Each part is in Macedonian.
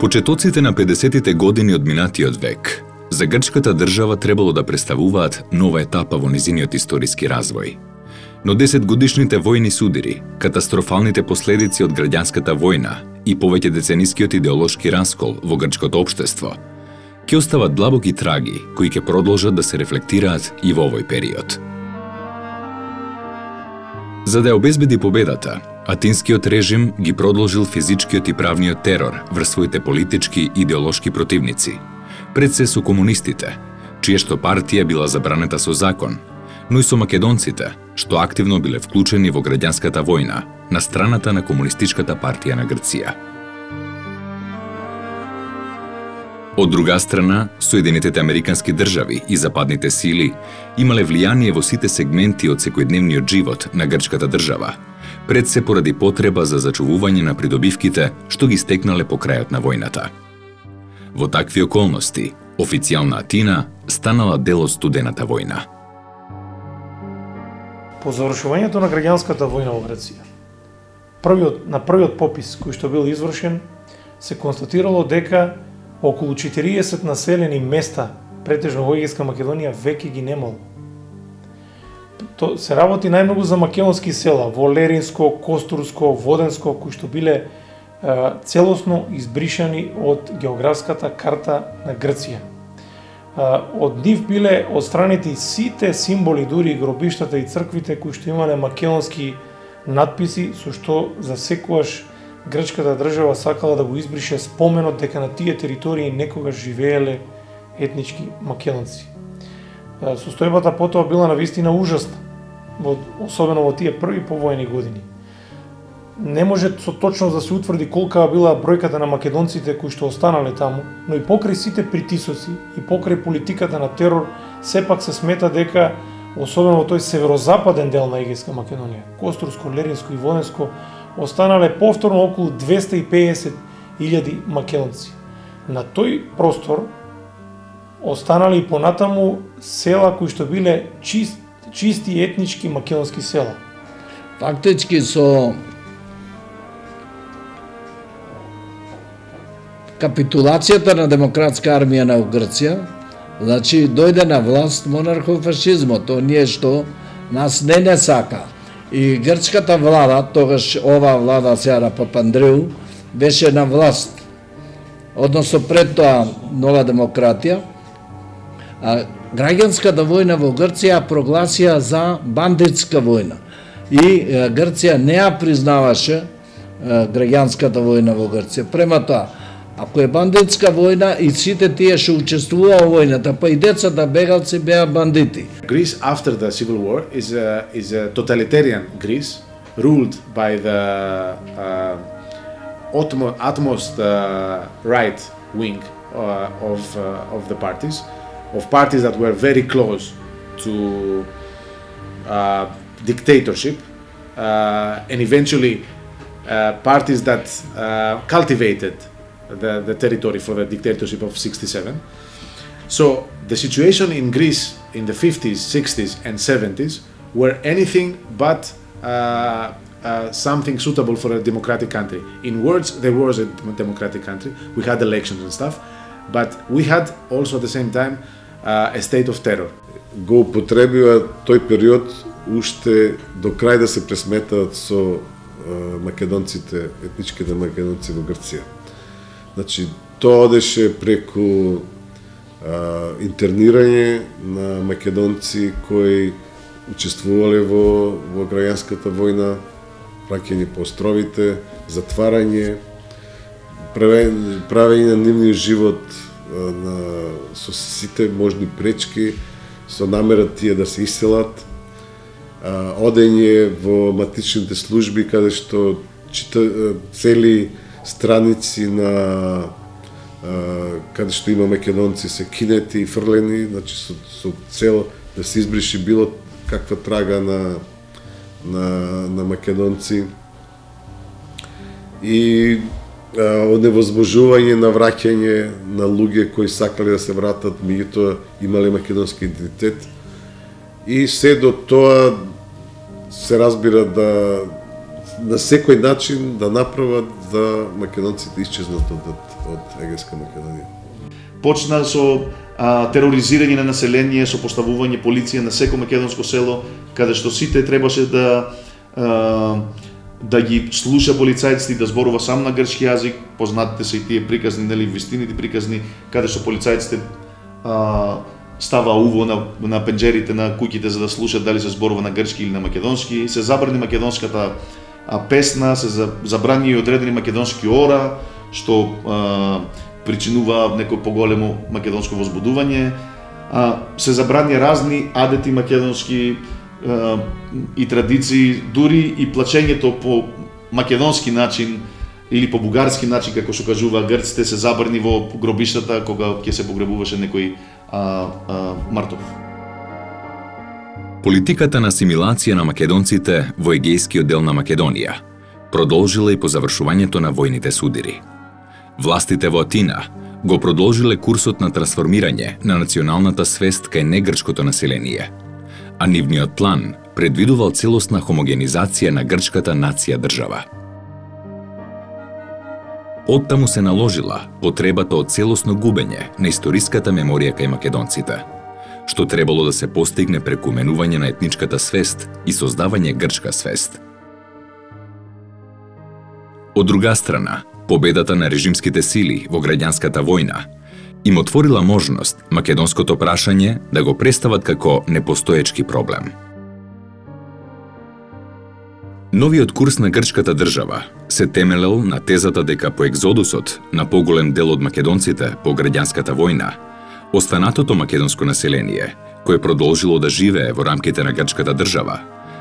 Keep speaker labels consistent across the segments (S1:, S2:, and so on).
S1: Почетоците на 50-тите години од минатиот век за грчката држава требало да представуваат нова етапа во низиниот историски развој. Но 10-годишните војни судири, катастрофалните последици од граѓанската војна и повеќе деценискиот идеолошки раскол во грчкото општество ќе остават длабоки траги кои ќе продолжат да се рефлектираат и во овој период. За да ја обезбеди победата, Атинскиот режим ги продолжил физичкиот и правниот терор врз своите политички и идеолошки противници, пред се со комунистите, чија што партија била забранета со закон, но и со македонците, што активно биле вклучени во граѓанската војна на страната на Комунистичката партија на Грција. Од друга страна, Соединетите Американски држави и западните сили имале влијание во сите сегменти од секојдневниот живот на грчката држава, пред се поради потреба за зачувување на придобивките што ги стекнале по крајот на војната. Во такви околности, официјална Атина станала дел од студената војна.
S2: По завршувањето на граѓанската војна во Грција, на првиот попис кој што бил извршен, се констатирало дека околу 40 населени места, претежно во Егејска Македонија, веќе ги немало. Се работи најмногу за македонски села, во Леринско, Костурско, Воденско, кои што биле целосно избришани од географската карта на Грција. Од нив биле отстранети сите символи, дури и гробиштата и црквите кои што имале македонски надписи, со што за секогаш грчката држава сакала да го избрише споменот дека на тие територии некогаш живееле етнички македонци. Состојбата потоа била навистина ужасна, особено во тие први повојни години. Не може со точност да се утврди колка била бројката на македонците кои што останале таму, но и покрај сите притисоци и покрај политиката на терор, сепак се смета дека, особено во тој северозападен дел на Егејска Македонија, Костурско, Леринско и Воденско, останале повторно околу 250.000 македонци. На тој простор останали и понатаму села кои што биле чисти етнички македонски села.
S3: Фактички со капитулацијата на демократска армија на Грција, значи дојде на власт монархофашизмот, тоа ние што нас не сака. И грчката влада, тогаш ова влада сега на Папандреу, беше на власт. Односно пред тоа нова демократија, граѓанската војна во Грција прогласија за бандитска војна. И Грција не ја признаваше граѓанската војна во Грција. Према тоа, ако е бандитска војна и сите тие што учествуваа во војната, па и децата бегалци беа бандити.
S4: Greece after the civil war is a totalitarian Greece ruled by the utmost right wing of the parties, of parties that were very close to dictatorship, and eventually parties that cultivated the territory for the dictatorship of 67. So the situation in Greece in the 50s, 60s and 70s were anything but something suitable for a democratic country. In words, there was a democratic country. We had elections and stuff, but we had also at the same time a state of terror.
S5: Го употребива тој период уште до крај да се пресметаат со македонците, етничките македонци во Грција. Значи, тоа одеше преку интернирање на македонци кои учествувале во граѓанската војна, праќање по островите, затварање, правење на нивниот живот со сите можни пречки, со намера тие да се иселат, одење во матичните служби каде што цели страници на каде што има македонци се кинети и фрлени, значи со цел да се избриши било каква трага на македонци и оневозможување на враќање на луѓе кои сакале да се вратат, меѓутоа имале македонски идентитет. И се до тоа се разбира да на секој начин да направат да македонците исчезнат од Егејска Македонија.
S6: Почна со тероризирање на население, со поставување полиција на секој македонско село, каде што сите требаше да ги слуша полицајците и да зборува сам на грчки јазик. Познатите се и тие приказни, нели, вистините приказни, каде што полицајците става уво на пенџерите на куќите за да слушат дали се зборува на грчки или на македонски. Се забрани македонската песна, се забрани и одредени македонски ора, што причинува некој поголемо македонско возбудување. Се забрани разни адети македонски и традиции, дури и плачењето по македонски начин или по бугарски начин, како што кажува грците, се забрани во гробиштата кога ќе се погребуваше некој мртов.
S1: Политиката на асимилација на македонците во егејскиот дел на Македонија продолжила и по завршувањето на војните судири. Властите во Атина го продолжиле курсот на трансформирање на националната свест кај негрчкото население, а нивниот план предвидувал целосна хомогенизација на грчката нација држава. Оттаму се наложила потребата од целосно губење на историската меморија кај македонците, што требало да се постигне преку менување на етничката свест и создавање грчка свест. Од друга страна, победата на режимските сили во граѓанската војна им отворила можност македонското прашање да го представат како непостоечки проблем. Новиот курс на грчката држава се темелел на тезата дека по екзодусот на поголем дел од македонците по граѓанската војна, останатото македонско население, кое продолжило да живее во рамките на грчката држава,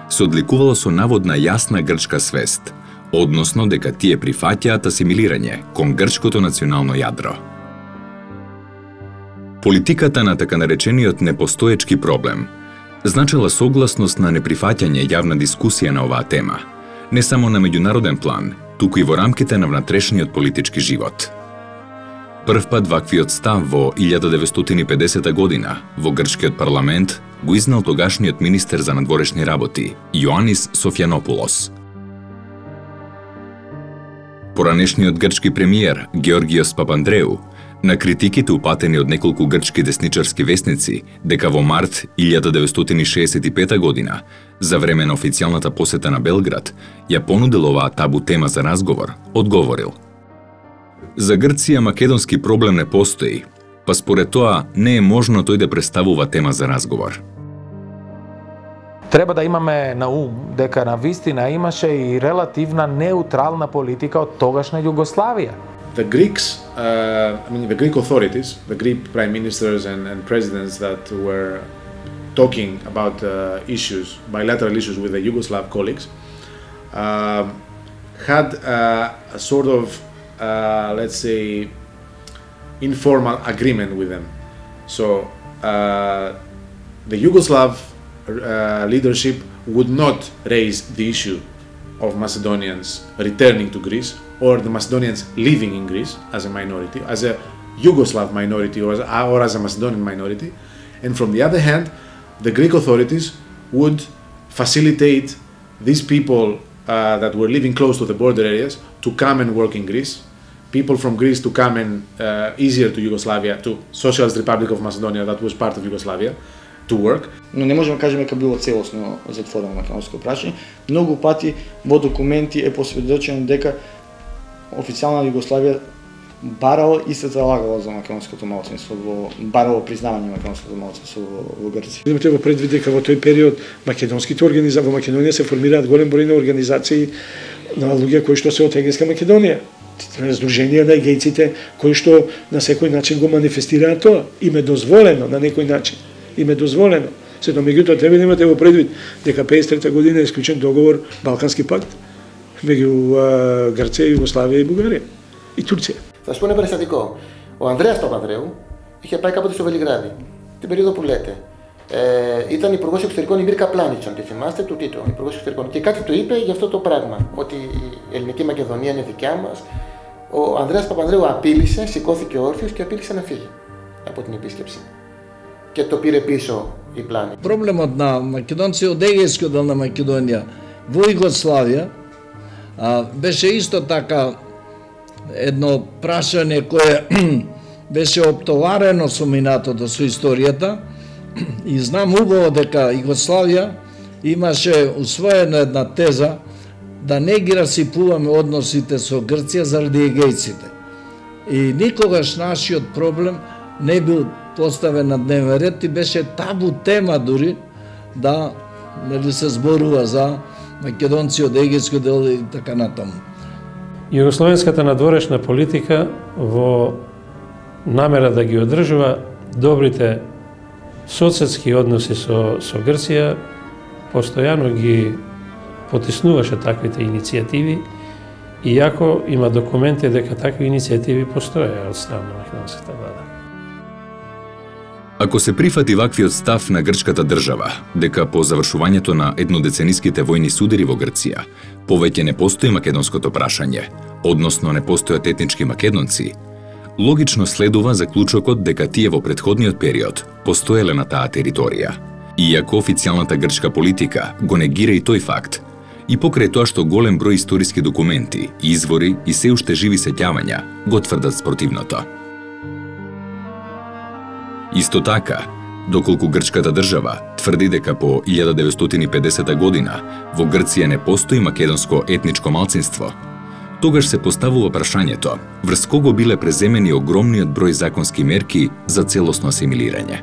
S1: се одликувало со наводна јасна грчка свест, односно дека тие прифаќаат асимилирање кон грчкото национално јадро. Политиката на така наречениот непостоечки проблем значила согласност на неприфаќање јавна дискусија на оваа тема, не само на меѓународен план, туку и во рамките на внатрешниот политички живот. Првпат ваквиот став во 1950 година во грчкиот парламент го изнел тогашниот министер за надворешни работи Јоанис Софјанопулос. Поранешниот грчки премиер Георгиос Папандреу на критиките упатени од неколку грчки десничарски весници дека во март 1965 година, за време на официјалната посета на Белград, ја понудил оваа табу тема за разговор, одговорил: "За Грција македонски проблем не постои, па според тоа не е можно тој да представува тема за разговор."
S7: Треба да имаме на ум дека на вистина имаше и релативна неутрална политика од тогашна Југославија.
S4: The Greeks, the Greek authorities, the Greek prime ministers and presidents that were talking about issues, bilateral issues with the Yugoslav colleagues, had a sort of, let's say, informal agreement with them. So the Yugoslav leadership would not raise the issue of Macedonians returning to Greece or the Macedonians living in Greece as a minority, as a Yugoslav minority or as a Macedonian minority. And from the other hand, the Greek authorities would facilitate these people that were living close to the border areas to come and work in Greece, people from Greece to come and easier to Yugoslavia, to Socialist Republic of Macedonia that was part of Yugoslavia, to work.
S8: Но не можеме да кажеме дека било целосно затворено македонско прашање. Многу пати во документи е посведочено дека официјална Југославија барала и се залагала за македонското малцинство, барало признавање на македонското малцинство во Грција.
S2: Имате го предвид дека во тој период македонските организации во Македонија се формираат голем број на организации на луѓе кои што се од Егејска Македонија. Сдруженија на егејците кои што на секој начин го манифестираат тоа. Им е дозволено на некој начин. Им е дозволено. Сето меѓутоа треба да имате во предвид дека 53 година е исклучен договор Балкански пакт меѓу Грција, Југославија и Бугарија и Турција.
S9: Θα σου πω ένα περιστατικό. Ο Ανδρέας Παπανδρέου είχε πάει κάποτε στο Βελιγράδι, την περίοδο που λέτε. Ήταν υπουργός εξωτερικών η Μίρκα Πλάνιτσον, τη θυμάστε, του Τίτο, υπουργός εξωτερικών. Και κάτι του είπε για αυτό το πράγμα, ότι η ελληνική Μακεδονία είναι δικιά μας. Ο Ανδρέας Παπανδρέου απείλησε, σηκώθηκε όρθιος και απείλησε να φύγει από την επίσκεψη. Και το πήρε πίσω η Πλάνη.
S3: Проблемот на македонци од егејскиот дел на Македонија во Југославија Беше исто така едно прашање кое беше оптоварено со минатото, со историјата, и знам убаво дека Југославија имаше усвоена една теза да не ги расипуваме односите со Грција заради егејците. И никогаш нашиот проблем не бил поставен на дневен ред и беше табу тема дури да се зборува за македонци од егејско дел и така натаму.
S10: Југословенската надворешна политика во намера да ги одржува добрите соседски односи со Грција постојано ги потиснуваше таквите иницијативи, иако има документи дека такви иницијативи постоја од страна на македонската влада.
S1: Ако се прифати ваквиот став на грчката држава, дека по завршувањето на еднодецениските војни судири во Грција, повеќе не постои македонското прашање, односно не постојат етнички македонци, логично следува заклучокот дека тие во претходниот период постоеле на таа територија. Иако официјалната грчка политика го негира и тој факт, и покрај тоа што голем број историски документи, извори и се уште живи сеќавања го тврдат спротивното. Исто така, доколку грчката држава тврди дека по 1950 година во Грција не постои македонско етничко малцинство, тогаш се поставува прашањето врз кого биле преземени огромниот број законски мерки за целосно асимилирање.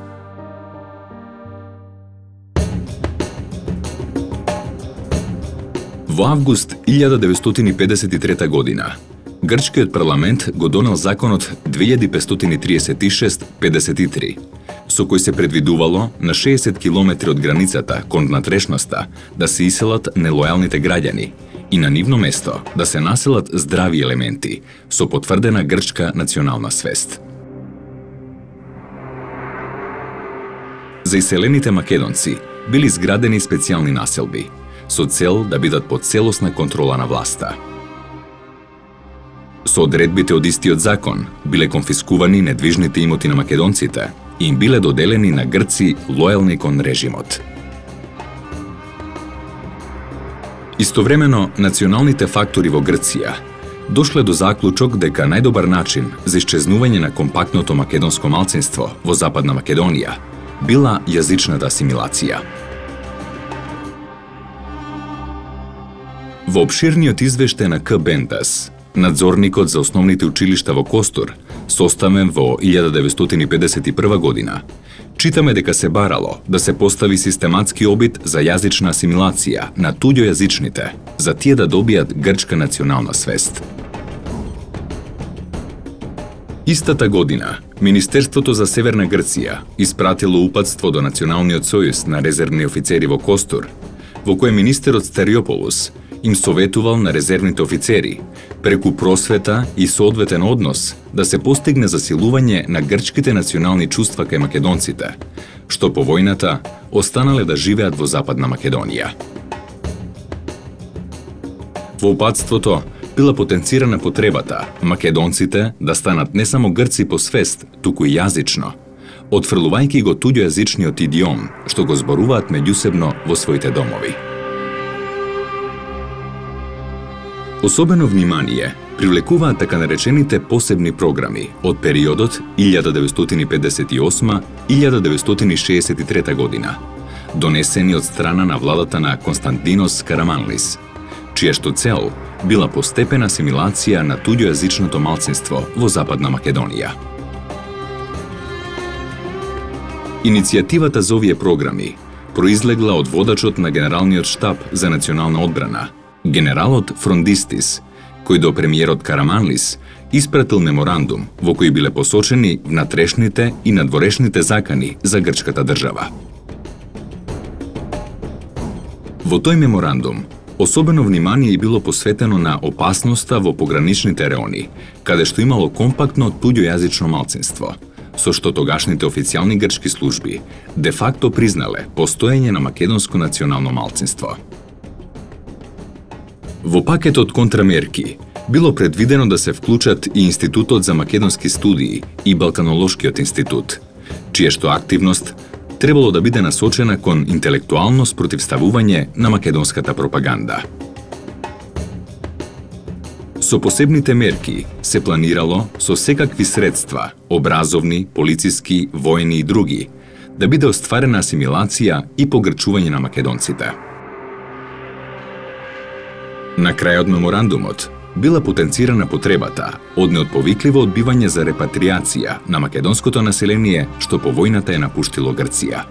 S1: Во август 1953 година, грчкиот парламент го донел законот 2536-53, со кој се предвидувало на 60 километри од границата кон внатрешноста да се иселат нелојалните граѓани и на нивно место да се населат здрави елементи со потврдена грчка национална свест. За иселените македонци били изградени специјални населби, со цел да бидат под целосна контрола на власта. Со одредбите од истиот закон биле конфискувани недвижните имоти на македонците и им биле доделени на грци лојални кон режимот. Истовремено, националните фактори во Грција дошле до заклучок дека најдобар начин за исчезнување на компактното македонско малцинство во Западна Македонија била јазичната асимилација. Во обширниот извештај на К. Бендас, надзорникот за основните училишта во Костур, составен во 1951 година, читаме дека се барало да се постави систематски обид за јазична асимилација на туѓојазичните, за тие да добијат грчка национална свест. Истата година, Министерството за Северна Грција испратило упатство до Националниот сојуз на резервни офицери во Костур, во кој министерот Стариополус им советувал на резервните офицери, преку просвета и соодветен однос, да се постигне засилување на грчките национални чувства кај македонците, што по војната останале да живеат во Западна Македонија. Во упатството била потенцирана потребата македонците да станат не само грци по свест, туку и јазично, отфрлувајќи го туѓојазичниот идиом што го зборуваат меѓусебно во своите домови. Особено внимание привлекуваат така наречените посебни програми од периодот 1958-1963 година, донесени од страна на владата на Константинос Караманлис, чија што цел била постепена асимилација на туѓојазичното малцинство во Западна Македонија. Иницијативата за овие програми произлегла од водачот на Генералниот штаб за национална одбрана, генералот Фрондистис, кој до премиерот Караманлис испратил меморандум во кој биле посочени внатрешните и надворешните закани за грчката држава. Во тој меморандум особено внимание било посветено на опасноста во пограничните реони, каде што имало компактно туѓојазично малцинство, со што тогашните официјални грчки служби де факто признале постоење на македонско национално малцинство. Во пакетот контрамерки било предвидено да се вклучат и Институтот за македонски студии и Балканолошкиот институт, чија што активност требало да биде насочена кон интелектуално спротивставување на македонската пропаганда. Со посебните мерки се планирало со секакви средства, образовни, полициски, воени и други, да биде остварена асимилација и погрчување на македонците. На крајот меморандумот била потенцирана потребата од неотповикливо одбивање за репатриација на македонското население што по војната е напуштило Грција.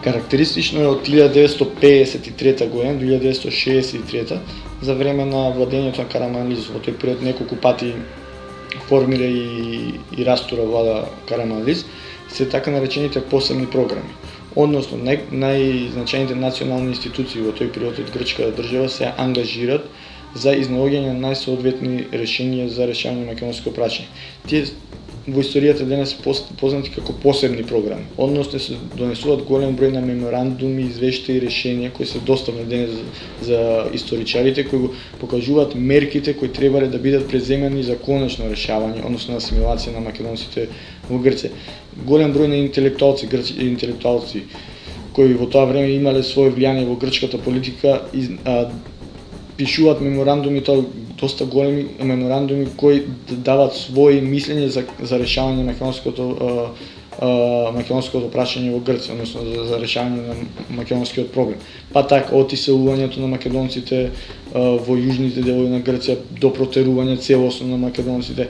S8: Карактеристично е од 1953 година, 1963 за време на владењето на Караманлис. Во тој период неколку пати формира и растура влада Караманлис, се така наречените посебни програми. Односно, најзначајните национални институции во тој период од грчката држава се ангажират за изнаоѓање на најсоодветни решенија за решавање на македонско прашање. Тие во историјата денес се познати како посебни програми. Односно се донесуваат голем број на меморандуми, извештаи и решенија кои се доставни денес за историчарите, кои го покажуваат мерките кои требале да бидат преземени за конечно решавање, односно асимилација на македонците во Грција. Голем број на интелектуалци кои во тоа време имале свое влијание во грчката политика пишуваат меморандуми, тоа доста големи меморандуми кои дават своји мислења за решавање на македонското прашање во Грција, односно за решавање на македонскиот проблем. Па така од иселувањето на македонците во јужните делови на Грција до протерување целосно на македонците.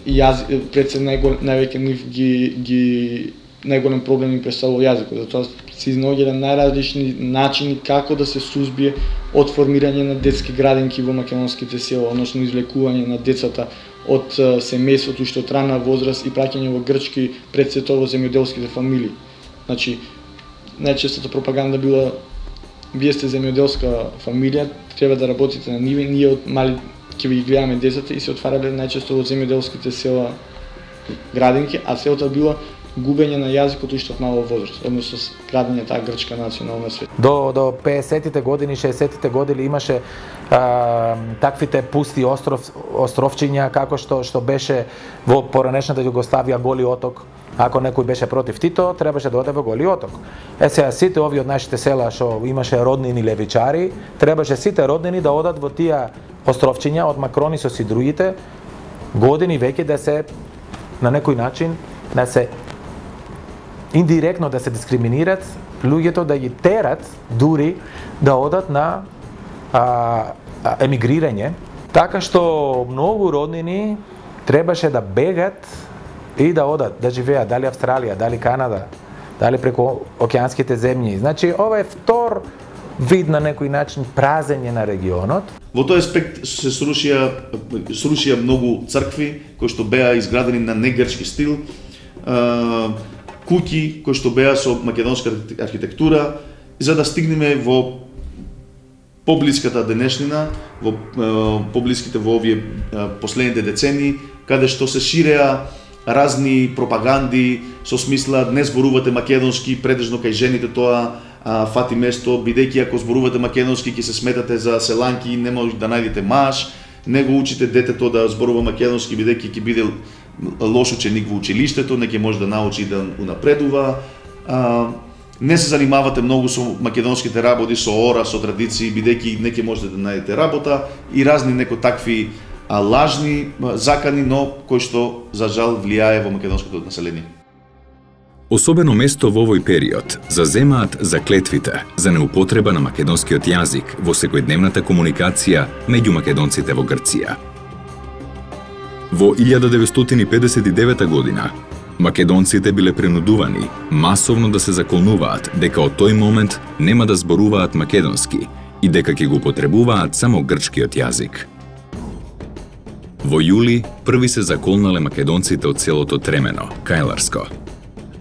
S8: Пред се највеќе нив ги најголем проблем им представува јазикот, затоа се изнаоѓале најразлични начини како да се сузбие од формирање на детски градинки во македонските села, односно извлекување на децата од семејството уште од рана возраст и праќање во грчки пред се тоа во земјоделските фамилии. Значи, најчестата пропаганда била: вие сте земјоделска фамилија, треба да работите на ниви, ние од мали ќе ви гледаме децата, и се отварале најчесто во земјоделските села градинки, а целта била губење на јазикот уште од мала возраст, односно градење таа грчка национална свет.
S7: До 50-тите години, 60-тите години имаше таквите пусти островчиња како што беше во поранешната Југославија Голи оток. Ако некој беше против Тито, требаше да оде во Голи оток. Сега сите овие од нашите села што имаше роднини левичари, требаше сите роднини да одат во тие островчиња од Макронисос и другите години веќе да се на некој начин да се индиректно да се дискриминират луѓето, да ги терат дури да одат на емигрирање, така што многу роднини требаше да бегат и да одат да живеат дали Австралија, дали Канада, дали преку океанските земји. Значи ова е втор вид на некој начин празење на регионот.
S6: Во тој аспект се срушија многу цркви кои што беа изградени на негрчки стил, куќи кои што беа со македонска архитектура, за да стигнеме во поблиската денешнина, во поблиските во овие последните децении, каде што се ширеа разни пропаганди со смисла: не зборувате македонски, предежно кај жените тоа фати место, бидејќи ако зборувате македонски ќе се сметате за селанки, не може да најдете маж, не го учите детето да зборува македонски, бидејќи ќе биде лош ученик во училиштето, не ќе може да научи да унапредува. Не се занимавате многу со македонските работи, со ора, со традиции, бидејќи не ќе можете да најдете работа, и разни неко такви лажни закани, но кои што за жал влијае во македонското население.
S1: Особено место во овој период заземаат заклетвите за неупотреба на македонскиот јазик во секојдневната комуникација меѓу македонците во Грција. Во 1959 година македонците биле принудувани масовно да се заколнуваат дека од тој момент нема да зборуваат македонски и дека ќе го употребуваат само грчкиот јазик. Во јули први се заколнале македонците од селото Тремено, Кајларско.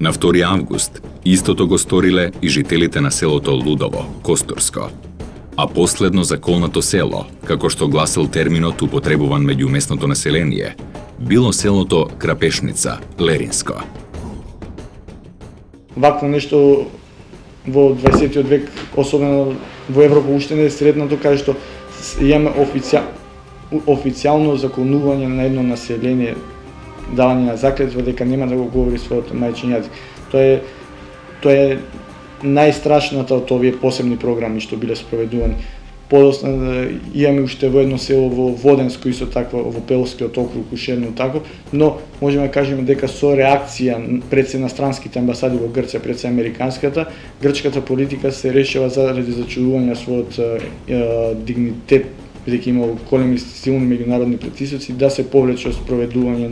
S1: На 2 август истото го сториле и жителите на селото Лудово, Костурско. А последно заколнато село, како што гласел терминот употребуван меѓу местното население, било селото Крапешница, Леринско.
S8: Вакво нешто во 20 век, особено во Европа, уште не е среднато, каде што имаме официјално заколнување на едно население, давање на заклетва дека нема да го говори својот мајчин јазик. Тоа е најстрашната од овие посебни програми што биле спроведувани. Подоцна имаме уште во едно село во Воденско, исто такво во Пелскиот округ, уште едно такво, но можеме да кажеме дека со реакција пред се иностранските амбасади во Грција, пред се американската, грчката политика се решава заради зачудување својот дигнитет, бидејќи има големи силни меѓународни притисоци, да се повлече спроведување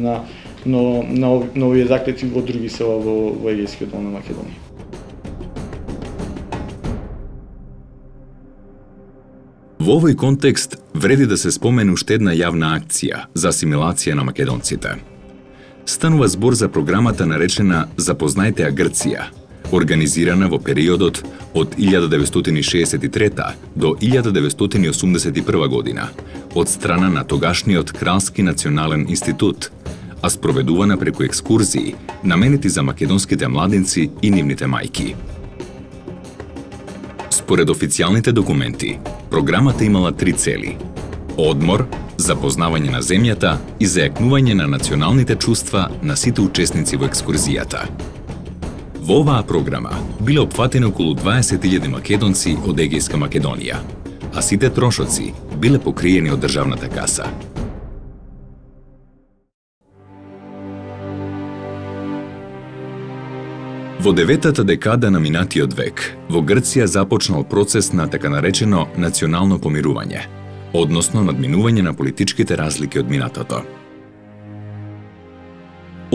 S8: на овие заклетви во други села во Егејскиот дел на Македонија.
S1: Во овој контекст вреди да се спомене уште една јавна акција за асимилација на македонците. Станува збор за програмата наречена Запознајте ја Грција, организирана во периодот од 1963 до 1981 година од страна на тогашниот Кралски национален институт, а спроведувана преку екскурзии наменети за македонските младинци и нивните мајки. Според официјалните документи, програмата имала 3 цели: одмор, запознавање на земјата и зајакнување на националните чувства на сите учесници во екскурзијата. Во оваа програма биле опфатени околу 20.000 македонци од Егејска Македонија, а сите трошоци биле покриени од државната каса. Во 9-та декада на минатиот век, во Грција започнал процес на така наречено национално помирување, односно надминување на политичките разлики од минатото.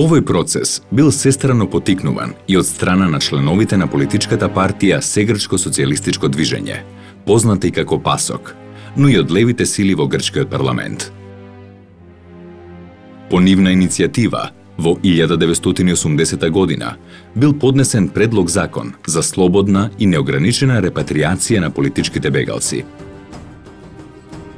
S1: Овој процес бил сестрано потикнуван и од страна на членовите на политичката партија Сегрчко социјалистичко движење, позната и како ПАСОК, но и од левите сили во грчкиот парламент. По нивна иницијатива, во 1980 година бил поднесен предлог закон за слободна и неограничена репатриација на политичките бегалци.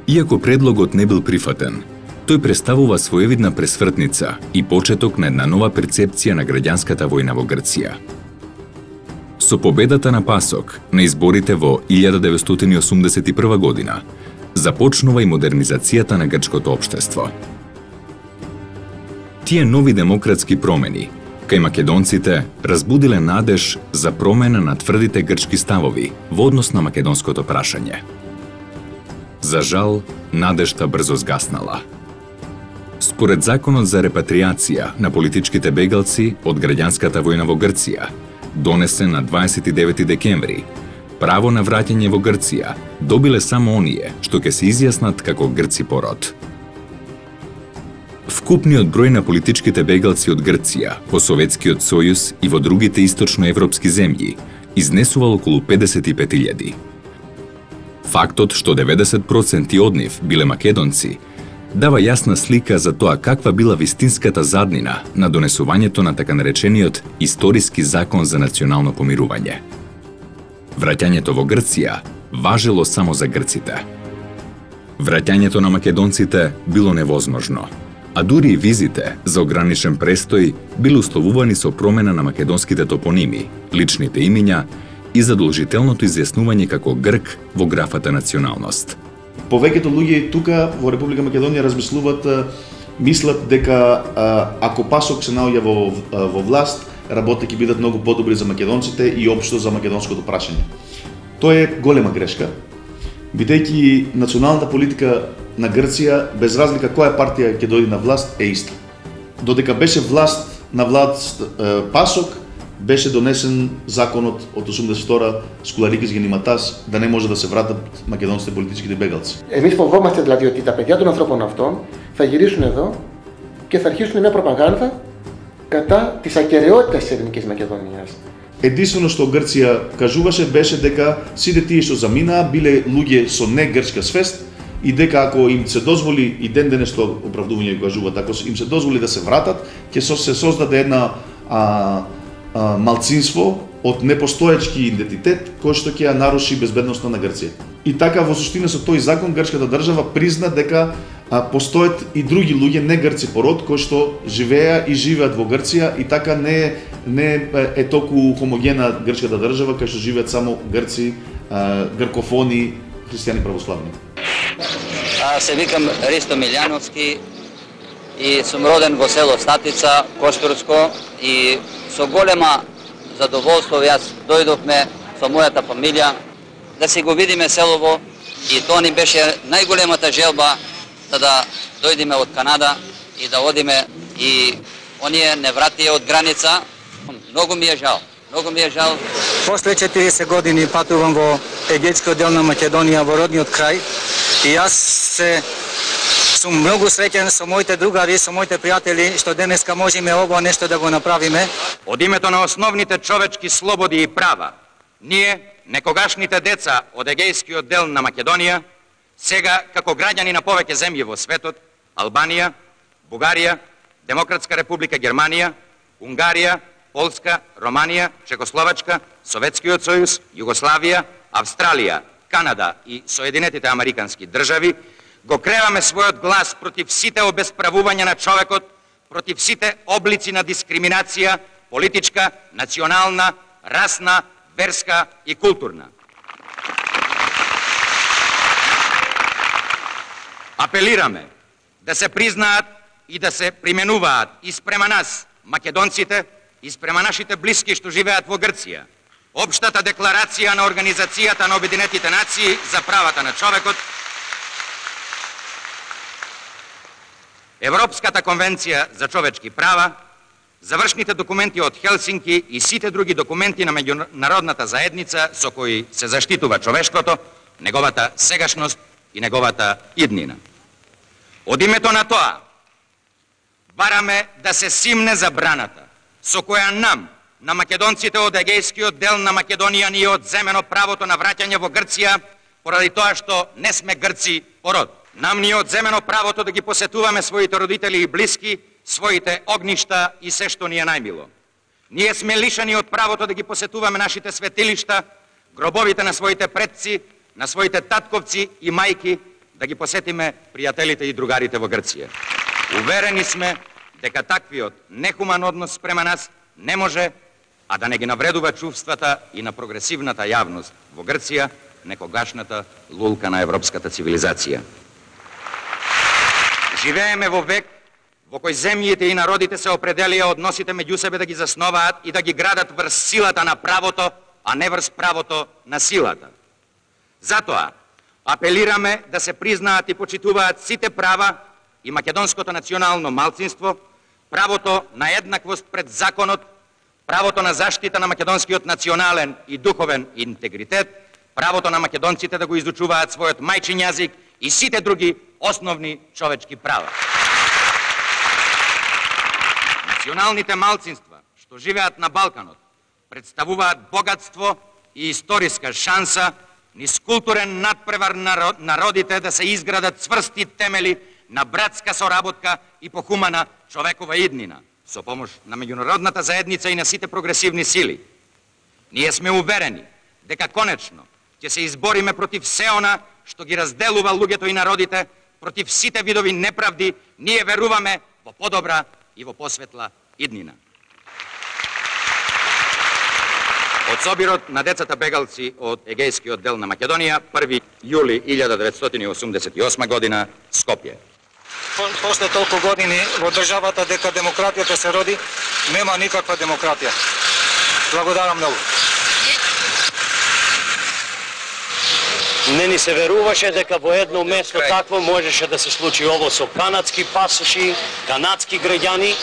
S1: Иако предлогот не бил прифатен, тој представува своевидна пресвртница и почеток на една нова перцепција на граѓанската војна во Грција. Со победата на ПАСОК на изборите во 1981 година започнува и модернизацијата на грчкото општество. Тие нови демократски промени кај македонците разбудиле надеж за промена на тврдите грчки ставови во однос на македонското прашање. За жал, надежта брзо згаснала. Според законот за репатриација на политичките бегалци од граѓанската војна во Грција, донесен на 29 декември, право на враќање во Грција добиле само оние што ќе се изјаснат како грци по род. Вкупниот број на политичките бегалци од Грција во Советскиот сојуз и во другите источноевропски земји изнесувал околу 55.000. Фактот што 90% од нив биле македонци дава јасна слика за тоа каква била вистинската заднина на донесувањето на така наречениот историски закон за национално помирување. Враќањето во Грција важело само за грците. Враќањето на македонците било невозможно, а дури и визите за ограничен престој биле условувани со промена на македонските топоними, личните имиња и задолжителното изјаснување како грк во графата националност.
S6: Повеќето луѓе тука во Република Македонија мислат дека ако ПАСОК се наоѓа во власт, работите ќе бидат многу подобри за македонците и општо за македонското прашање. Тоа е голема грешка, бидејќи националната политика на Грција, без разлика која партија ќе дојде на власт, е иста. Додека беше на власт ПАСОК, беше донесен законот од 82 Скуларикис Генimатас да не може да се вратат македонските политичките μπέγαλци.
S9: Εμείς φοβόμαστε δηλαδή ότι τα παιδιά των ανθρώπων αυτών θα γυρίσουν εδώ και θα αρχίσουν μια προπαγάνδα κατά της ακεραιότητας της Ελληνικής Μακεδονίας.
S6: Единствено што Грција кажуваше беше дека сите тие што заминаа биле луѓе со не грчка свест и дека ако им се дозволи и ден денес што оправдување кажуваат, ако им се дозволи да се вратат, ќе се создаде една малцинство од непостоечки идентитет кој што ќе ја наруши безбедноста на Грција. И така во суштина со тој закон грчката држава призна дека постојат и други луѓе не грци по род кои што живеа и живеат во Грција и така не е толку хомогена грчката држава кај што живеат само грци, гркофони, христијани православни.
S11: Се викам Ристо Милјановски и сум роден во село Статица, Коштурско, и со голема задоволство јас дојдовме со мојата фамилија да си го видиме селово И тоа ни беше најголемата желба да дојдеме од Канада и да одиме и оние не вратија од граница. Многу ми е жал. Многу ми е жал.
S12: После 40 години патувам во егејскиот дел на Македонија, во родниот крај, и јас сум многу среќен со моите другари, со моите пријатели, што денеска можеме ово нешто да го направиме.
S13: Од името на основните човечки слободи и права, ние, некогашните деца од егејскиот дел на Македонија, сега како граѓани на повеќе земји во светот, Албанија, Бугарија, Демократска република Германија, Унгарија, Полска, Романија, Чекословачка, Советскиот сојуз, Југославија, Австралија, Канада и Соединетите Американски држави, го креваме својот глас против сите обесправувања на човекот, против сите облици на дискриминација, политичка, национална, расна, верска и културна. Апелираме да се признаат и да се применуваат и спрема нас, македонците, и спрема нашите блиски што живеат во Грција, Обштата декларација на Организацијата на Обединетите нации за правата на човекот, Европската конвенција за човечки права, завршните документи од Хелсинки и сите други документи на меѓународната заедница со кои се заштитува човештвото, неговата сегашност и неговата иднина. Од името на тоа, бараме да се симне забраната со која нам, на македонците од егејскиот дел на Македонија, ни е одземено правото на враќање во Грција поради тоа што не сме грци по род. Нам ни е одземено правото да ги посетуваме своите родители и блиски, своите огништа и се што ни е најмило. Ние сме лишени од правото да ги посетуваме нашите светилишта, гробовите на своите предци, на своите татковци и мајки, да ги посетиме пријателите и другарите во Грција. Уверени сме дека таквиот нехуман однос спрема нас не може, а да не ги навредува чувствата и на прогресивната јавност во Грција, некогашната лулка на европската цивилизација. Живееме во век во кој земјите и народите се определија односите меѓу себе да ги засноваат и да ги градат врз силата на правото, а не врз правото на силата. Затоа апелираме да се признаат и почитуваат сите права и македонското национално малцинство, правото на еднаквост пред законот, правото на заштита на македонскиот национален и духовен интегритет, правото на македонците да го изучуваат својот мајчин јазик и сите други основни човечки права. Националните малцинства што живеат на Балканот представуваат богатство и историска шанса низ културен надпревар на народите да се изградат цврсти темели на братска соработка и похумана човекова иднина, со помош на меѓународната заедница и на сите прогресивни сили. Ние сме уверени дека конечно ќе се избориме против се она што ги разделува луѓето и народите, против сите видови неправди. Ние веруваме во подобра и во посветла иднина. Од собирот на децата бегалци од егејскиот дел на Македонија, 1 јули 1988 година, Скопје.
S12: После толку години во државата дека демократијата се роди, нема никаква демократија. Благодарам многу.
S14: Не ни се веруваше дека во едно место такво можеше да се случи ово со канадски пасоши, канадски граѓани,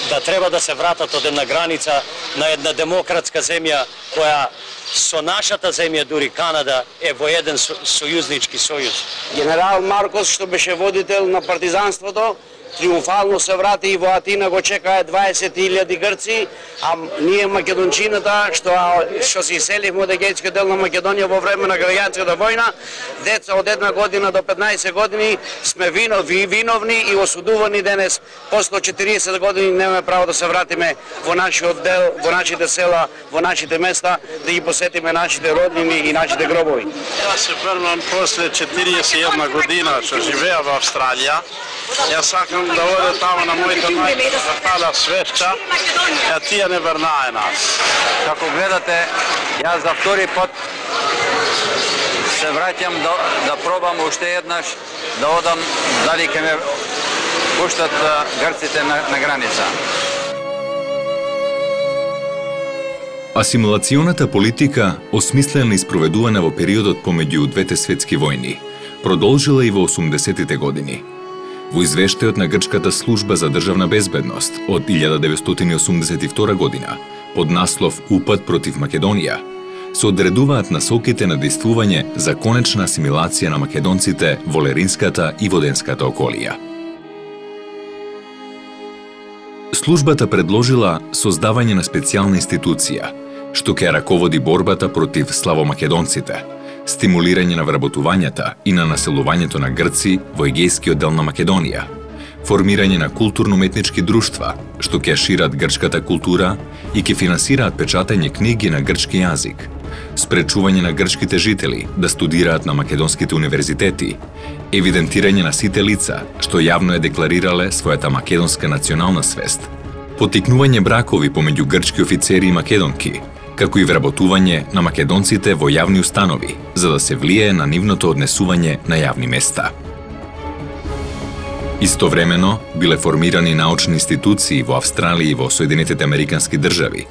S14: да треба да се вратат од една граница на една демократска земја која со нашата земја, дури Канада, е во еден сојузнички сојуз.
S15: Генерал Маркос, што беше водител на партизанството, триумфално се врати и во Атина го чекаа 20.000 грци, а ние македончината што се иселивме од егејскиот дел на Македонија во време на граѓанската војна, деца од 1 година до 15 години сме виновни и осудувани денес. После 40 години немаме право да се вратиме во нашиот дел, во нашите села, во нашите места, да ги посетиме нашите роднини и нашите гробови.
S16: Јас се врнам после 41 година што живеа во Австралија. Јас сакам да оде тамо на моите мајки да запалят свечка, а тие не врнае нас.
S17: Како гледате, јас за втори пат се враќам да пробам уште еднаш да одам дали ќе ме пуштат грците на граница.
S1: Асимилационата политика, осмислена и спроведувана во периодот помеѓу двете светски војни, продолжила и во 80-тите години. Во извештајот на Грчката служба за државна безбедност од 1982 година, под наслов Упад против Македонија, се одредуваат насоките на действување за конечна асимилација на македонците во Леринската и Воденската околија. Службата предложила создавање на специјална институција, што ќе раководи борбата против славомакедонците, стимулирање на вработувањата и на населувањето на грци во егејскиот дел на Македонија, формирање на културно-уметнички друштва, што ќе шират грчката култура и ќе финансираат печатање книги на грчки јазик, спречување на грчките жители да студираат на македонските универзитети, евидентирање на сите лица што јавно е декларирале својата македонска национална свест, потикнување бракови помеѓу грчки офицери и македонки, како и вработување на македонците во јавни установи, за да се влијае на нивното однесување на јавни места. Истовремено, биле формирани научни институции во Австралија и во Соединетите Американски држави,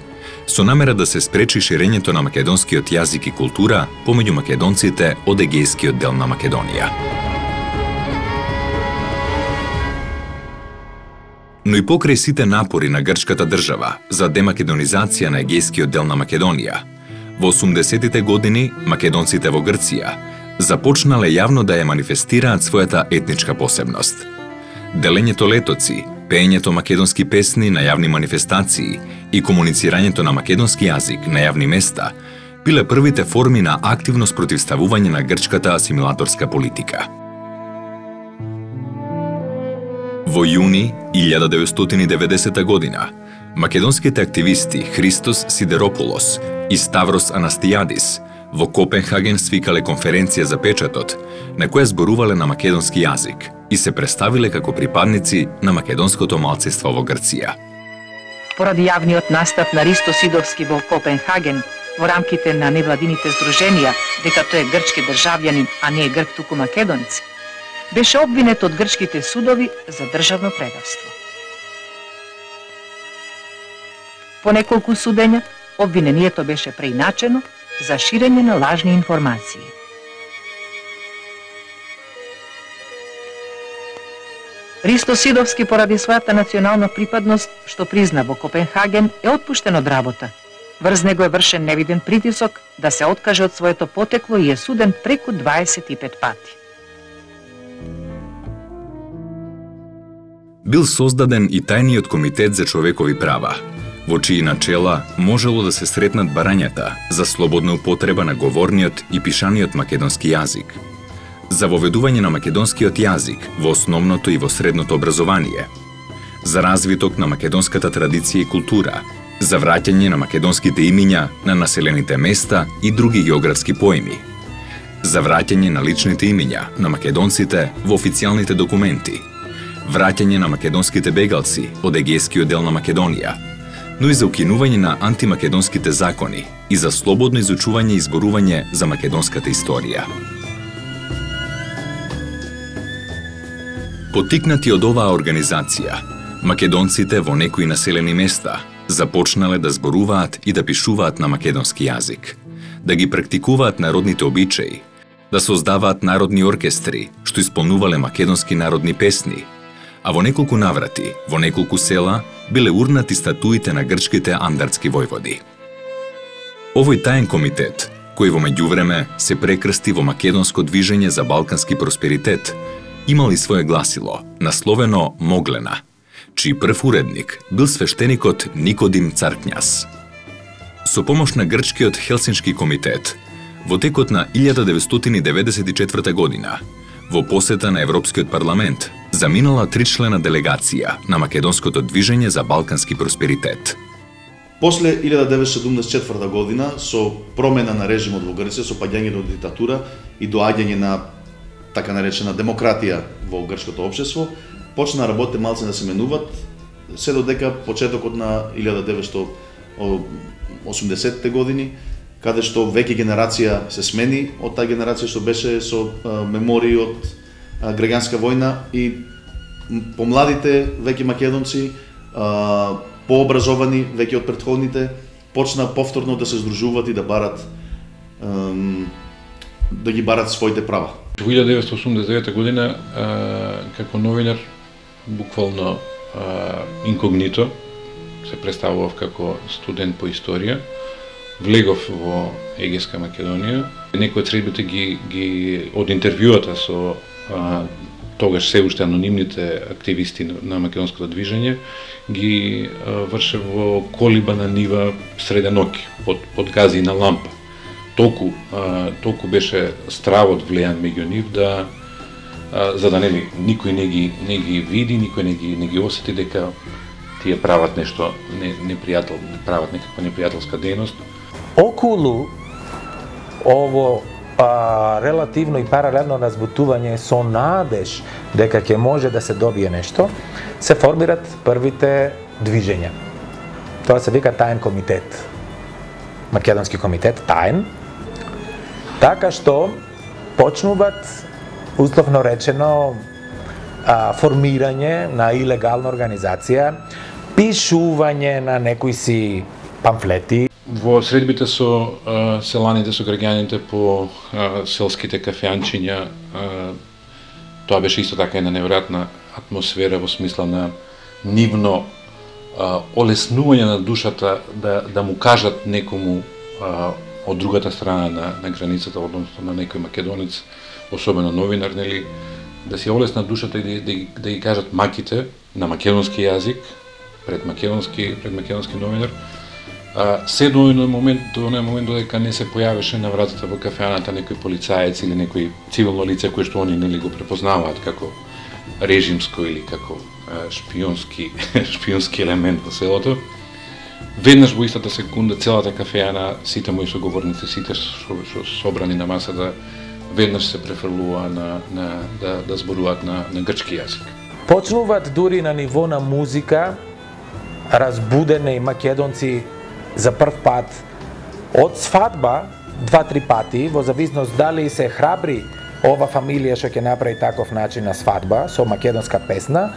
S1: со намера да се спречи ширењето на македонскиот јазик и култура помеѓу македонците од егејскиот дел на Македонија. Но и покрај сите напори на грчката држава за демакедонизација на егејскиот дел на Македонија, во 80-тите години македонците во Грција започнале јавно да ја манифестираат својата етничка посебност. Делењето летоци, пеењето македонски песни на јавни манифестации и комуницирањето на македонски јазик на јавни места биле првите форми на активно спротивставување на грчката асимилаторска политика. Во јуни 1990 година, македонските активисти Христос Сидерополос и Ставрос Анастијадис во Копенхаген свикале конференција за печатот, на која зборувале на македонски јазик и се представиле како припадници на македонското малцинство во Грција.
S18: Поради јавниот настап на Ристо Сидовски во Копенхаген, во рамките на невладините здруженија, дека тој е грчки државјанин, а не е грк туку македонец, беше обвинет од грчките судови за државно предавство. По неколку судења, обвинението беше преиначено за ширење на лажни информации. Ристо Сидовски поради својата национална припадност, што призна во Копенхаген, е отпуштен од работа. Врз него е вршен невиден притисок да се откаже од своето потекло и е суден преку 25 пати.
S1: Бил создаден и тајниот комитет за човекови права, во чии начела можело да се сретнат барањата за слободна употреба на говорниот и пишаниот македонски јазик, за воведување на македонскиот јазик во основното и во средното образование, за развиток на македонската традиција и култура, за враќање на македонските имиња на населените места и други географски поими, за враќање на личните имиња на македонците во официјалните документи, враќање на македонските бегалци од егејскиот дел на Македонија, но и за укинување на антимакедонските закони и за слободно изучување и зборување за македонската историја. Потикнати од оваа организација, македонците во некои населени места започнале да зборуваат и да пишуваат на македонски јазик, да ги практикуваат народните обичаи, да создаваат народни оркестри што исполнувале македонски народни песни, а во неколку наврати, во неколку села, биле урнати статуите на грчките андартски војводи. Овој таен комитет, кој во меѓувреме се прекрсти во македонско движење за балкански просперитет, имал и свое гласило, насловено Моглена, чиј прв уредник бил свештеникот Никодим Царкњас. Со помош на грчкиот Хелсиншки комитет, во текот на 1994 година, во посета на Европскиот парламент, заминала тричлена делегација на македонското движење за балкански просперитет.
S6: После 1974 година, со промена на режимот во Грција, со паѓање до диктатура и доаѓање на така наречена демократија во грчкото општество, почна работите малце да се менуват, се додека почетокот на 1980-те години, каде што веќе генерација се смени од таа генерација што беше со мемории од граѓанска војна и помладите веќе македонци, пообразовани веќе од претходните, почна повторно да се здружуваат и да барат да ги барат своите права.
S19: Во 1989 година како новинар буквално инкогнито се представував како студент по историја. Влегов во Егејска Македонија. Некои од средбите ги од интервјуата со тогаш се уште анонимните активисти на македонското движење ги вршев во колиба на нива среде ноќ под гази на лампа. Толку беше стравот влејан меѓу нив да за да никој не ги види, никој не ги осети дека тие прават нешто прават некаква непријателска дејност.
S7: Околу ово релативно и паралелно разбутување со надеж дека ќе може да се добие нешто, се формират првите движења. Тоа се вика таен комитет. Македонски комитет, таен. Така што почнуваат, условно речено, формирање на илегална организација, пишување на некои си памфлети.
S19: Во средбите со селаните, со граѓаните по селските кафеанчиња, тоа беше исто така една неверојатна атмосфера во смисла на нивно олеснување на душата да му кажат некому од другата страна на границата, односно на некој македонец, особено новинар, нели, да си олесна душата и да ги кажат маките на македонски јазик пред македонски новинар. Се до оној момент додека не се појавеше на вратата во кафеаната некој полицаец или некој цивилно лице кој што они нели го препознаваат како режимско или како шпионски елемент во селото. Веднаш во истата секунда целата кафеана, сите мои соговорници, сите што собрани на масата, веднаш се префрлува да зборуваат на грчки јазик.
S7: Почнуваат дури на ниво на музика, разбудени македонци за прв пат од свадба 2-3 пати, во зависност дали се храбри ова фамилија што ќе направи таков начин на свадба со македонска песна,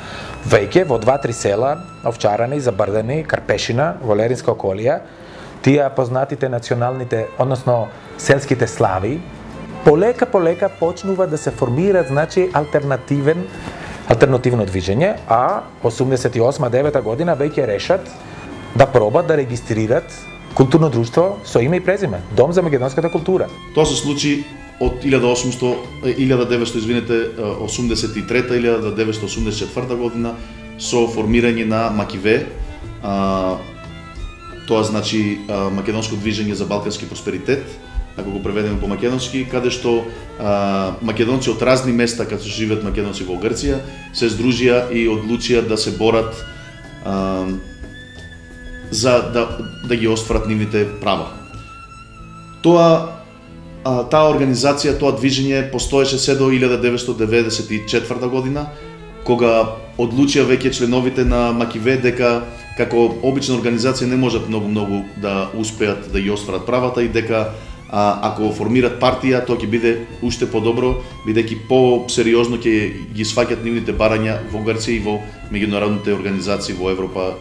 S7: веќе во 2-3 села, Овчарани, Забрдани, Карпешина, во Леринска околија, тие познатите националните, односно селските слави, полека почнува да се формира, значи, алтернативно движење, а 88-9 година веќе решат да пробат да регистрират културно друштво со име и презиме, Дом за македонската култура.
S6: Тоа се случи од 1983-1984 година со формирање на Макиве, тоа значи Македонско движење за балкански просперитет, ако го преведеме по македонски, каде што македонци од разни места каде што живеат македонци во Грција се здружија и одлучија да се борат за да ги остварат нивните права. Таа организација, тоа движење постоеше се до 1994 година, кога одлучија веќе членовите на Макиве дека како обична организација не можат многу да успеат да ги остварат правата и дека ако формират партија, тоа ќе биде уште подобро, бидејќи по-сериозно ќе ги сваќат нивните барања во Грција и во меѓународните организации во Европа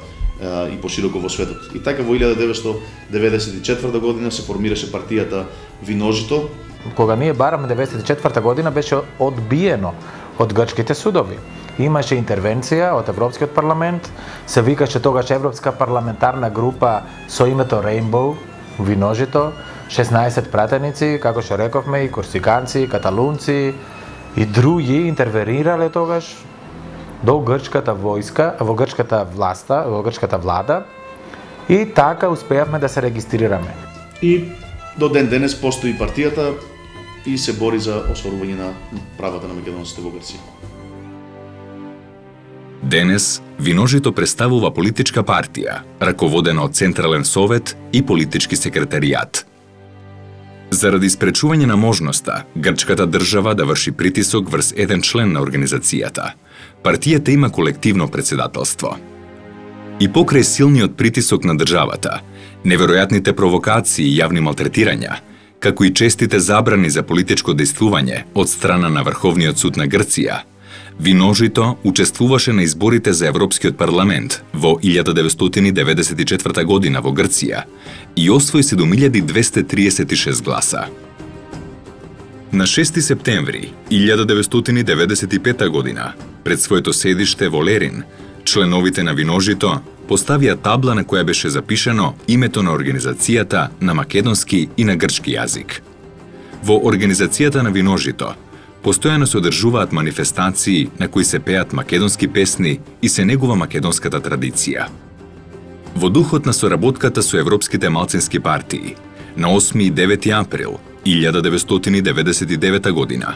S6: и пошироко во светот. И така во 1994 година се формираше партијата Виножито.
S7: Кога ние бараме 1994 година беше одбиено од грчките судови. Имаше интервенција од Европскиот парламент, се викаше тогаш Европска парламентарна група со името Rainbow, Виножито, 16 пратеници, како што рековме, и корсиканци, и каталунци и други интервенирале тогаш до грчката војска, во грчката влада и така успеавме да се регистрираме.
S6: И до ден денес постои партијата и се бори за остварување на правата на македонците во Грција.
S1: Денес Виножито представува политичка партија, раководена од Централен совет и политички секретаријат. Заради спречување на можноста грчката држава да врши притисок врз еден член на организацијата, партијата има колективно председателство. И покрај силниот притисок на државата, неверојатните провокации и јавни малтретирања, како и честите забрани за политичко дејствување од страна на Врховниот суд на Грција, Виножито учествуваше на изборите за Европскиот парламент во 1994 година во Грција и освои 7236 гласа. На 6 септември 1995 година, пред своето седиште во Лерин, членовите на Виножито поставија табла на која беше запишано името на организацијата на македонски и на грчки јазик. Во организацијата на Виножито постојано се одржуваат манифестации на кои се пеат македонски песни и се негува македонската традиција. Во духот на соработката со европските малцински партии, на 8 и 9 април 1999 година,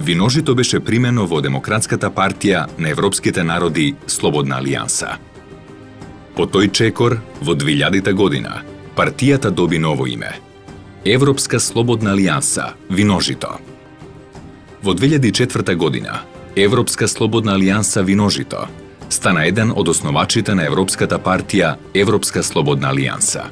S1: Виножито беше примено во Демократската партија на европските народи Слободна алијанса. По тој чекор, во 2000 година, партијата доби ново име – Европска слободна алијанса Виножито. Во 2004 година, Европска слободна алијанса Виножито стана еден од основачите на Европската партија Европска слободна алијанса.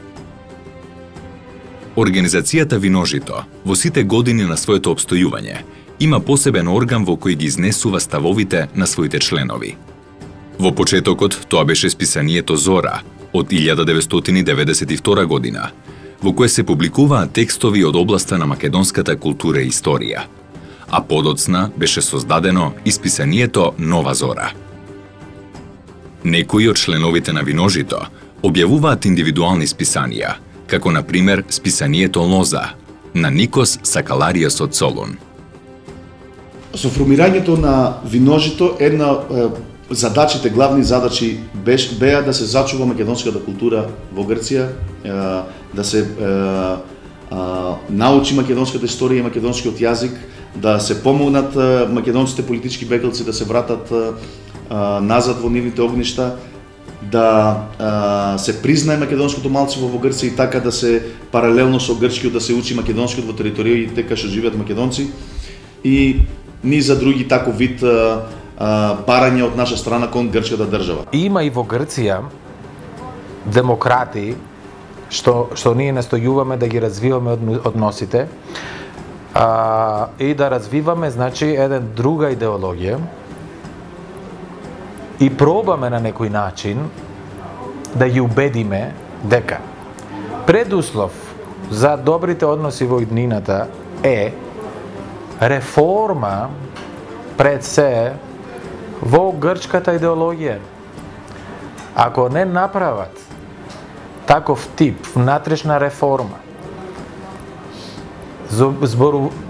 S1: Организацијата Виножито во сите години на своето обстојување има посебен орган во кој ги изнесува ставовите на своите членови. Во почетокот тоа беше списанието Зора од 1992 година, во кое се публикуваат текстови од областа на македонската култура и историја, а подоцна беше создадено и списанието Нова Зора. Некои од членовите на Виножито објавуваат индивидуални списанија, како на пример списанието Лоза на Никос Сакалариос од Солун.
S6: Со формирањето на Виножито, една задачите, главни задачи беа да се зачува македонската култура во Грција, да се научи македонската историја и македонскиот јазик, да се помогнат македонските политички бегалци да се вратат назад во нивните огништа, да се признае македонското малцинство во Грција и така да се паралелно со грчкиот да се учи македонскиот во териториите кај што живеат македонци и ни за други таков вид барања од наша страна кон грчката држава.
S7: Има и во Грција демократи што ние настојуваме да ги развиваме односите и да развиваме значи еден друга идеологија и пробаме на некој начин да ги убедиме дека предуслов за добрите односи во иднината е реформа пред се во грчката идеологија. Ако не направат таков тип внатрешна реформа,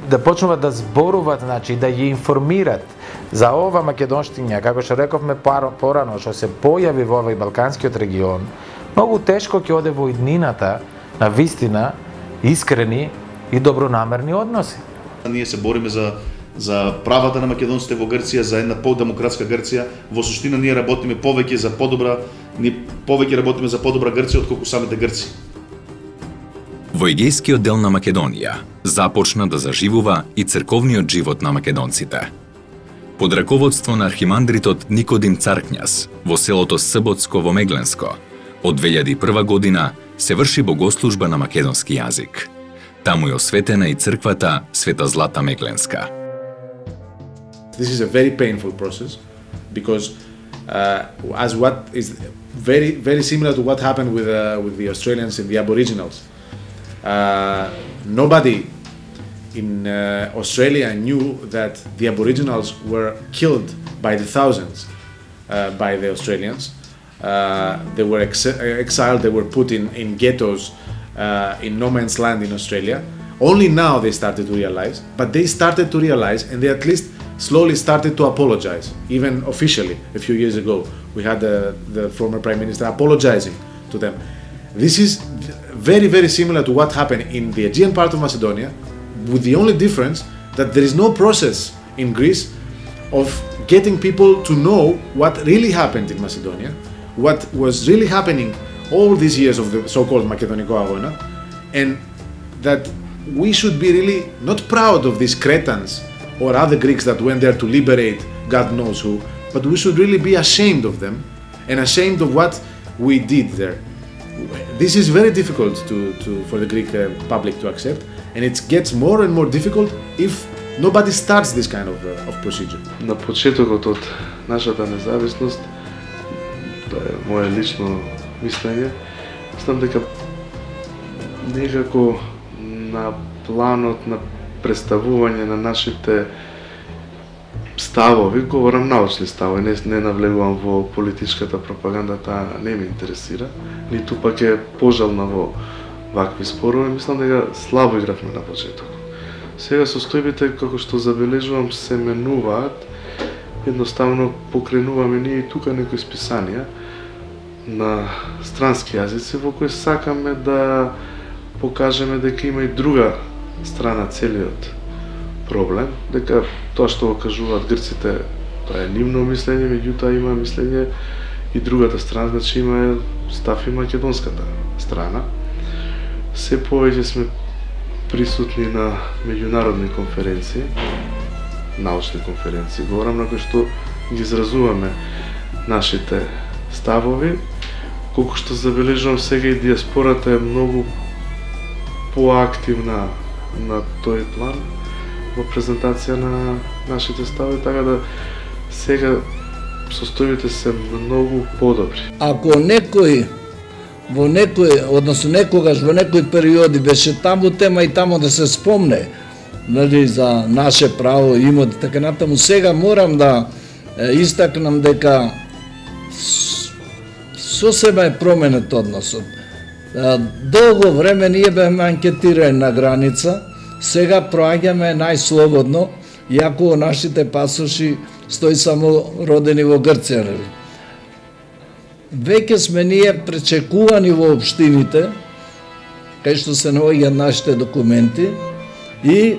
S7: да почнуваат да зборуваат, значи да ги информират за ова македонштиња, како што рековме порано, што се појави во овој балканскиот регион, многу тешко ќе оде во иднината на вистина искрени и добронамерни односи.
S6: Ние се бориме за правата на македонците во Грција, за една подемократска Грција. Во суштина ние работиме повеќе за подобра Грција отколку самите грци.
S1: Во Егејскиот дел на Македонија започна да заживува и црковниот живот на македонците. Под раководство на архимандритот Никодим Царкњас во селото Сботско во Мегленско, од 2001 година се врши богослужба на македонски јазик. Таму е осветена и црквата Света Злата Мегленска.
S4: This is a very painful process because as what is very similar to what happened with the Australians and the Aboriginals. Nobody in Australia knew that the Aboriginals were killed by the thousands by the Australians. They were exiled, they were put in ghettos in no man's land in Australia. Only now they started to realize, but they started to realize and they at least slowly started to apologize, even officially a few years ago. We had the former Prime Minister apologizing to them. This is very similar to what happened in the Aegean part of Macedonia, with the only difference that there is no process in Greece of getting people to know what really happened in Macedonia, what was really happening all these years of the so-called Makedoniko Agona, and that we should be really not proud of these Cretans or other Greeks that went there to liberate God knows who, but we should really be ashamed of them and ashamed of what we did there. This is very difficult for the Greek public to accept, and it gets more and more difficult if Nobody starts this kind of procedure.
S20: На почетокот од нашата независност, тоа е мое лично мислење, мислам дека некако на планот на представување на нашите ставови, говорам научни ставови, не навлегувам во политичката пропаганда, таа не ме интересира, ниту пак е пожална во вакви спорови, мислам дека слабо игравме на почеток. Сега состојбите, како што забележувам, се менуваат, едноставно покренуваме ние и тука некои списанија на странски јазици во кои сакаме да покажеме дека има и друга страна целиот проблем, дека тоа што го кажуваат грците, тоа е нивно мислење, меѓутоа има мислење и другата страна, значи има став и македонската страна. Се повеќе сме присутни на меѓународни конференции, научни конференции, говорам на кои што ги изразуваме нашите ставови, колку што забележувам сега и диаспората е многу поактивна на тој план во презентација на нашите ставови, така да сега состојбите се многу подобри.
S3: Ако некој во некој, односно некогаш во некои периоди беше таму тема и таму да се спомне, нели, за наше право, имот и така натаму, сега морам да истакнам дека сосема е променет односот. Долго време ние бевме анкетирани на граница, сега проаѓаме најслободно, иако нашите пасоши стои само родени во Грција, нели. Веќе сме ние пречекувани во општините, кај што се наоѓаат нашите документи, и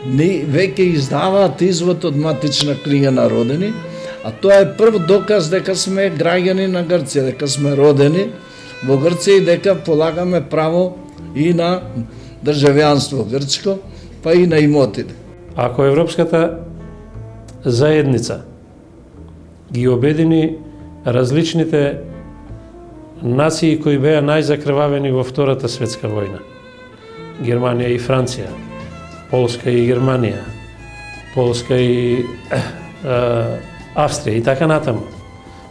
S3: ни веќе издаваат извод од матична книга на родени, а тоа е прв доказ дека сме граѓани на Грција, дека сме родени во Грција и дека полагаме право и на државјанство грчко, па и на имотите.
S10: Ако Европската заедница ги обедини различните нации кои беа најзакрвавени во Втората светска војна, Германија и Франција, Полска и Германија, Полска и Австрија и така натаму,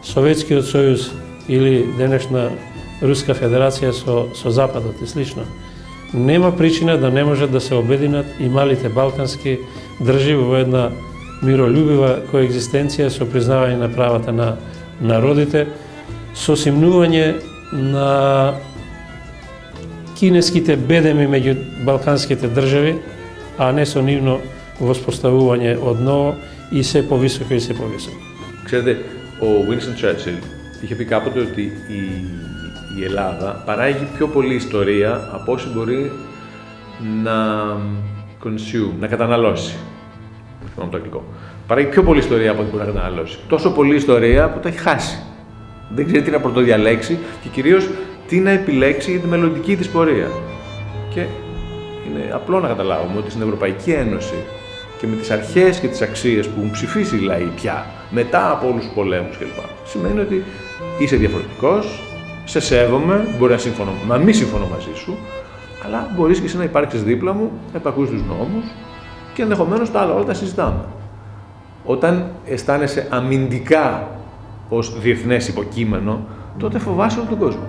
S10: Советскиот сојуз или денешна Руска федерација со Западот и слично, нема причина да не можат да се обединат и малите балкански држави во една миролюбива коегзистенција со признавање на правата на народите, со симнување на кинеските бедеми меѓу балканските држави, а не со нивно воспоставување одново и се повисоко и се повисоко.
S21: Ξέρετε, ο Winston Churchill είχε πει κάποτε ότι η Ελλάδα παράγει πιο πολλή ιστορία από όσο μπορεί να καταναλώσει. Θυμάμαι το αγγλικό. Παράγει πιο πολλή ιστορία από ό,τι μπορεί να καταναλώσει. Τόσο πολλή ιστορία που τα έχει χάσει. Δεν ξέρει τι να πρωτοδιαλέξει και κυρίως τι να επιλέξει για τη μελλοντική της πορεία. Και είναι απλό να καταλάβουμε ότι στην Ευρωπαϊκή Ένωση και με τις αρχές και τις αξίες που έχουν ψηφίσει οι λαοί πια μετά από όλους τους πολέμους κλπ. Σημαίνει ότι είσαι διαφορετικός, σε σέβομαι, μπορεί να μην συμφωνώ μαζί σου, αλλά μπορείς και εσύ να υπάρξεις δίπλα μου, να υπακούσεις τους νόμους και ενδεχομένως τα άλλα όλα τα συζητάμε. Όταν αισθάνεσαι αμυντικά ως διεθνές υποκείμενο, τότε φοβάσαι όλο τον κόσμο.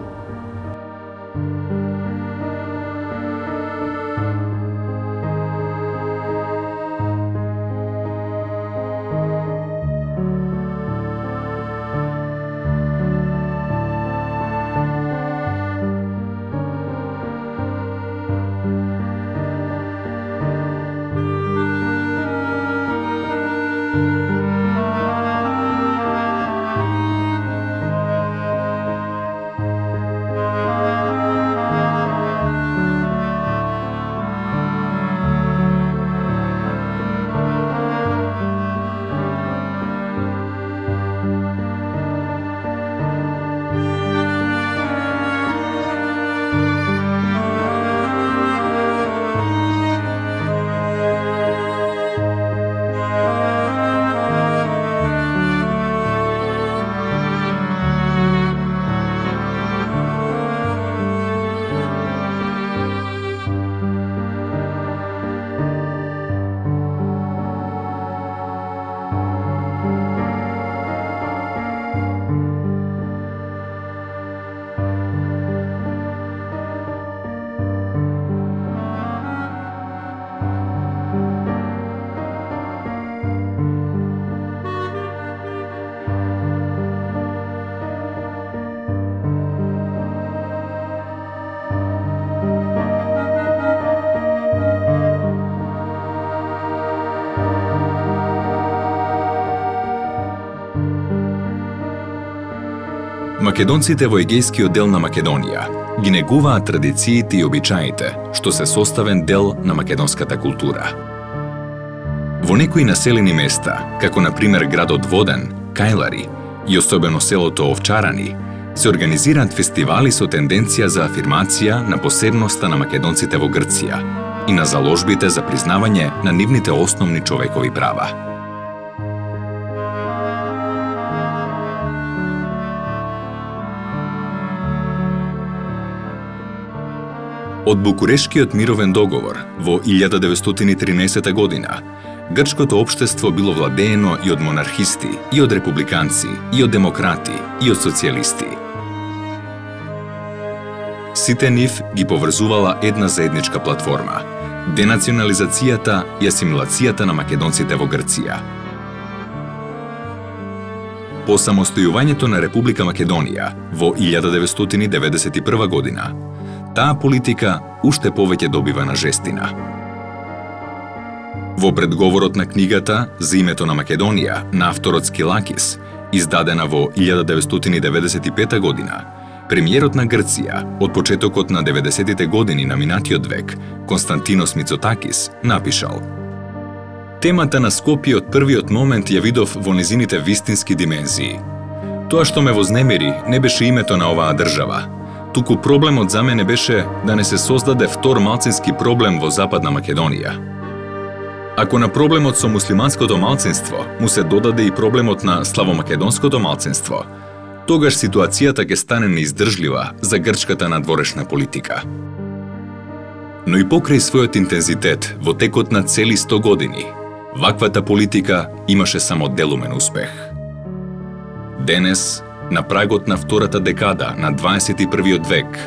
S1: Македонците во егејскиот дел на Македонија ги негуваат традициите и обичаите, што се составен дел на македонската култура. Во некои населени места, како на пример градот Воден, Кајлари и особено селото Овчарани, се организираат фестивали со тенденција за афирмација на посебноста на македонците во Грција и на заложбите за признавање на нивните основни човекови права. Од Букурешкиот мировен договор во 1913 година, грчкото општество било владеено и од монархисти, и од републиканци, и од демократи, и од социјалисти. Сите нив ги поврзувала една заедничка платформа – денационализацијата и асимилацијата на македонците во Грција. По самостојувањето на Република Македонија во 1991 година, таа политика уште повеќе добива на жестина. Во предговорот на книгата За името на Македонија на авторот Скилакис, издадена во 1995 година, премиерот на Грција од почетокот на 90-тите години на минатиот век, Константинос Мицотакис, напишал: Темата на Скопје од првиот момент ја видов во незините вистински димензии. Тоа што ме вознемири не беше името на оваа држава, туку проблемот за мене беше да не се создаде втор малцински проблем во Западна Македонија. Ако на проблемот со муслиманското малцинство му се додаде и проблемот на славомакедонското малцинство, тогаш ситуацијата ќе стане неиздржлива за грчката надворешна политика. Но и покрај својот интензитет во текот на цели 100 години, ваквата политика имаше само делумен успех. Денес, на прагот на втората декада на 21 век,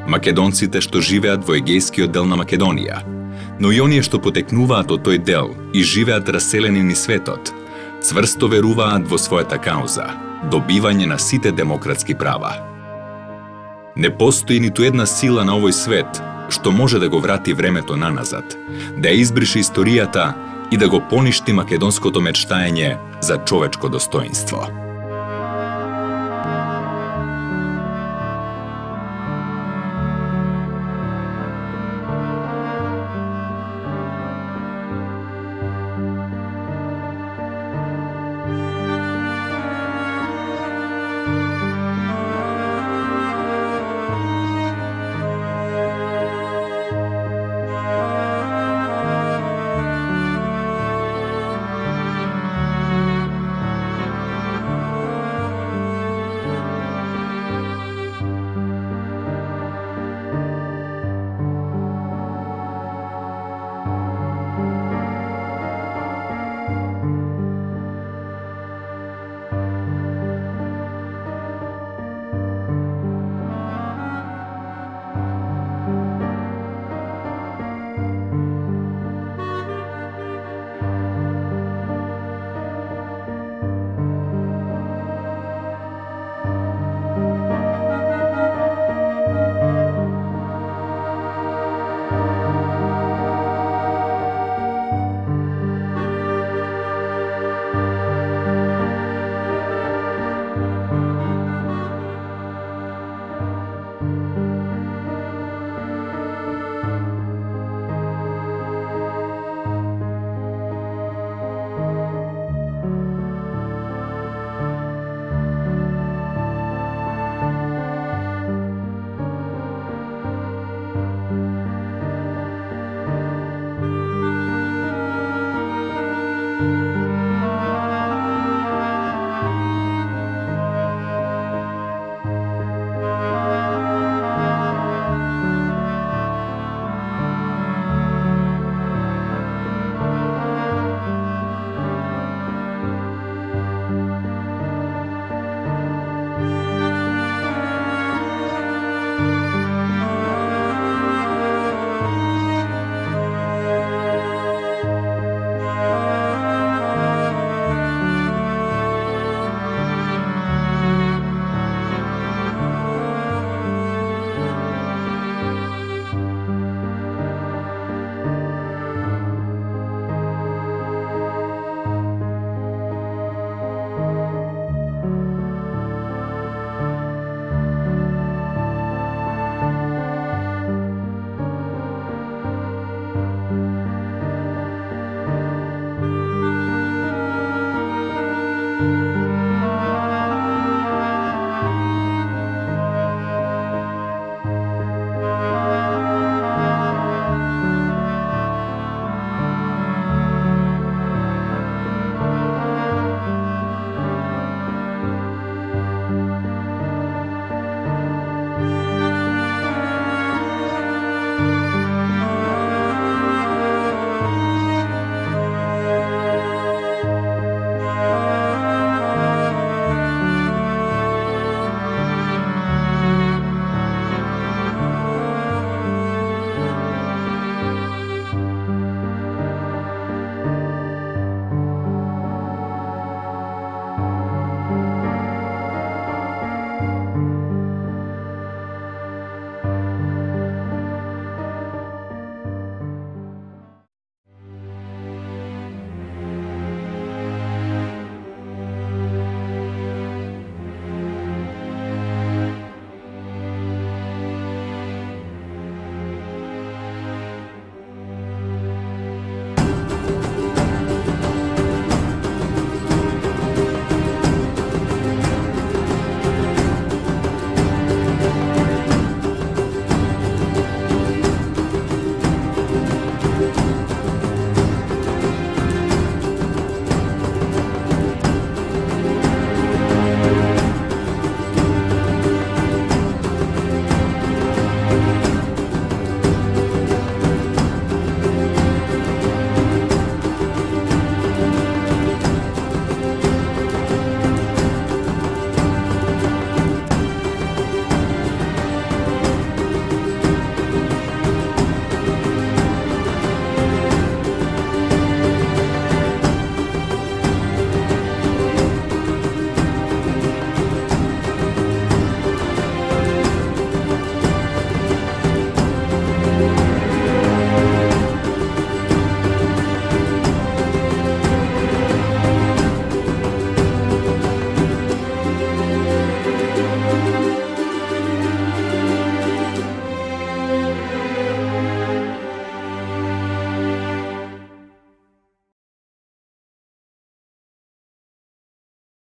S1: македонците што живеат во егејскиот дел на Македонија, но и оние што потекнуваат од тој дел и живеат раселени низ светот, цврсто веруваат во својата кауза – добивање на сите демократски права. Не постои ниту една сила на овој свет што може да го врати времето наназад, да ја избрише историјата и да го поништи македонското мечтаење за човечко достоинство.